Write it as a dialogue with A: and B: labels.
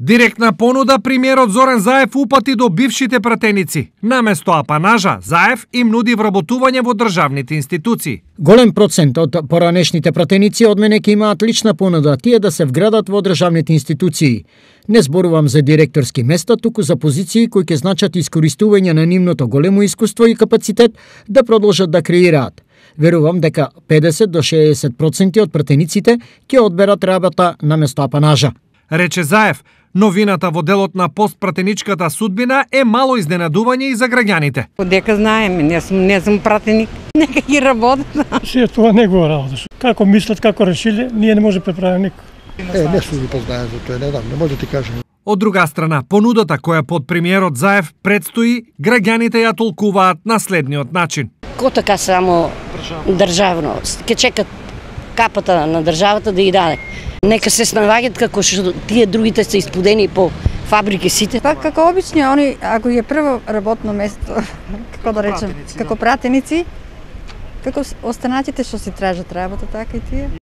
A: Директна понуда премиерот Зоран Заев упати до бившите пратеници. Наместо апанажа, Заев им нуди вработување во државните институции.
B: Голем процент од поранешните пратеници од мене ќе имаат лична понуда, тие да се вградат во државните институции. Не зборувам за директорски места, туку за позиции кои ќе значат искористување на нивното големо искуство и капацитет да продолжат да креираат. Верувам дека 50 до 60% од пратениците ќе одберат работа наместо апанажа.
A: Рече Заев, новината во делот на постпратеничката судбина е мало изненадување и за граѓаните.
C: Дека знаеме, не сум пратеник, нека ги работат.
D: Се тоа негова работа. Како мислат, како решиле, ние не може да преправиме никој.
E: Не сум ги познаен за тоа, не знам, не може да ти кажам.
A: Од друга страна, понудата која под премиерот Заев предстои, граѓаните ја толкуваат на следниот начин.
F: Ко така само државно, ке чекат капата на државата да ја даде. Нека се снаоѓаат како што тие другите се испудени по фабрики сите.
G: Па како обични, они ако е прво работно место, како да речем, како пратеници, како останатите што си тражат работа, така и тие.